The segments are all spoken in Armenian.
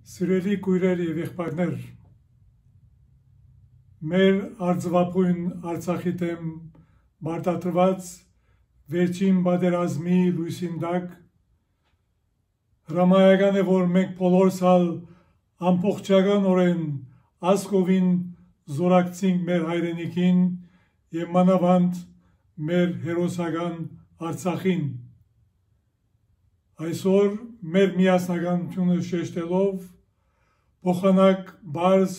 Սիրելի քույրեր եւ եղբայրներ, մեր արձվապույն Արցախի դեմ մարտադրված վերջին պատերազմի լույսին տակ հրամայական է, որ մենք բոլորս ամբողջականորեն ազգովին զորակցենք մեր հայրենիքին եւ մանավանդ մեր հերոսական Արցախին։ Այսօր մեր միասնականությունը շեշտելով փոխանակ բարձ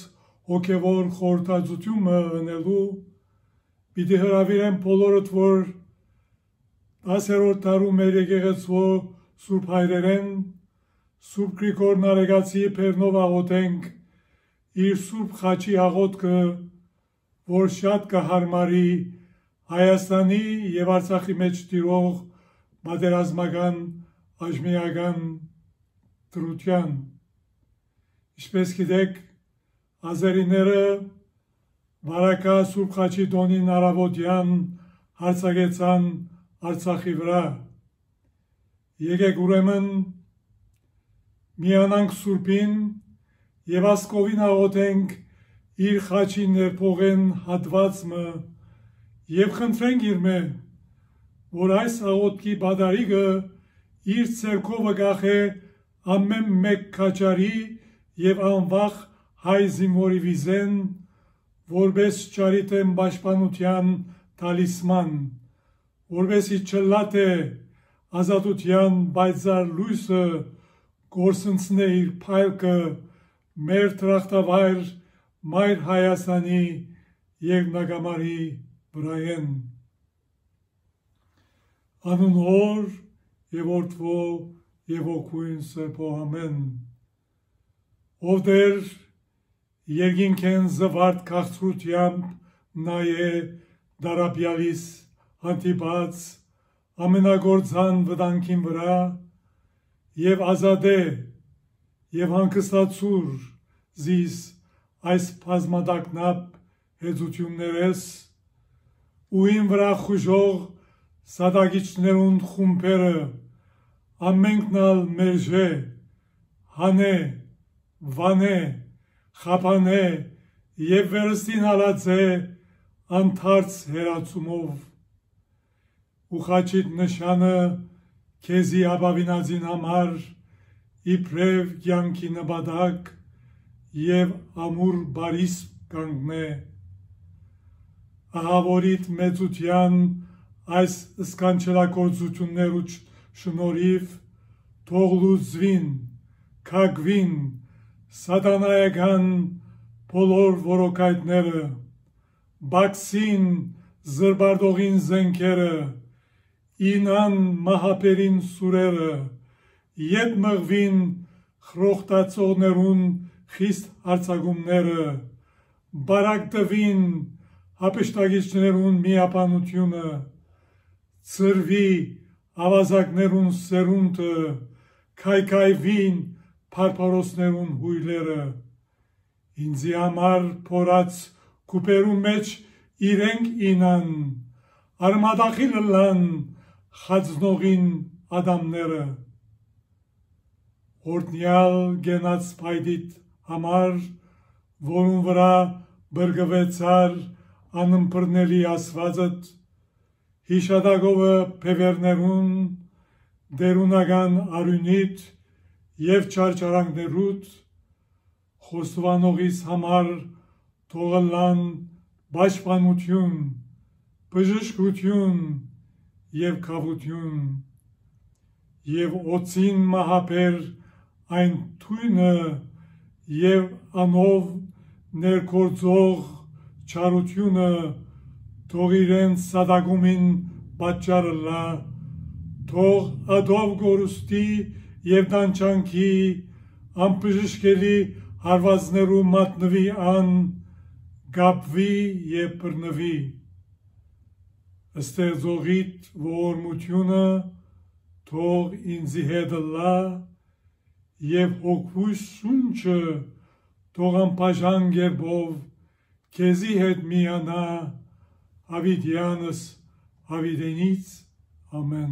հոգևոր խորհրդածությունը ունելու պիտի հրավիրեմ բոլորդ, որ 10-րդ դարում մեր եկեղեցու Սուրբ հայրերեն Սուրբ Գրիգոր Նարեգացի Փերնով աղոթենք իր Սուրբ խաչի աղոթքը, որ շատ կհարմարի Հայաստանի եւ Արցախի մեջ տիրող պատերազմական աջմիական դրության։ Ինչպես գիտեք, ազերիները վարակա Սուրբ խաչի տոնին առավոտյան հարձակեցան Արցախի վրա։ Եկեք ուրեմն միանանք Սուրբին եւ ասկովին աղոթենք իր խաչի ներփողեն հատվածը եւ խնդրենք իրմե, որ այս աղոթքի բադարիգը իր ցերկովը գախե ամեն մեկ քաչարի եւ անվախ հայ զինվորի վիզեն, որպես ճարիտեն պաշտպանության տալիսման, որպեսի չլատե ազատության պայծառ լույսը գործընծնե իր փայլքը մեր տրախտավայր մայր Հայաստանի երկնագամարի վրայեն։ Անուն Հոր եւ Որդվո եւ Հոգույն Սրբո ամեն։ Ով դեր երկինքեն զվարթ քաղցրությամբ նայե դարաբյալիս հանդիպած ամենագործան վտանգին վրա եւ ազատե եւ հանգստացուր զիս այս բազմադակնապ հեծություններես ու ին վրա խուժող սադագիչներուն խումբերը ամենքնալ մերժե, հանե, վանե, խափանե եւ վերստին հալածե անթարց հերացումով ու խաչիտ նշանը քեզի ապավինածին համար իբրև կյանքի նպատակ եւ ամուր բարիս կանգնե ահավորիտ մեծության այս սկանչելագործություններու շնորհիվ թող լուծվին, քագվին սատանայական բոլոր որոկայտները, բացին զրբարդողին զենքերը, ինան մահապերին սուրերը, ետ մղվին խրոխտացողներուն խիստ հարձակումները, բարակտվին հապշտագիչներուն միապանությունը, ծրվի ավազակներուն սերունդը, քայքայվին փարփարոսներուն հույլերը, ինձի համար փորած կուպերու մեջ իրենք ինան, արմադախիլ լան խածնողին ադամները, օրդնյալ գենած պայդիտ համար, որուն վրա բրգվեցար անըմպրնելի ասվածըտ, հիշադակովը փևերներուն, դերունական արյունիտ եւ չարչարանքներուտ, խոստովանողիս համար թողլան պաշտպանություն, բժշկություն եւ քավություն, եւ օծին մահապեր այն թույնը եւ անով ներկործող չարությունը թող իրենց սադագումին պատճառը լա, թող ադով գորուստի եւ դանչանքի անբժշկելի հարվածներու մատնվի ան, գապվի եւ բռնվի։ Ստեղծողիդ ողորմությունը թող ինձի հետ լա եւ հոգուս շունչը թող անբաժան գերբով քեզի հետ միանա Հավիտյանս հավիտենից ամեն։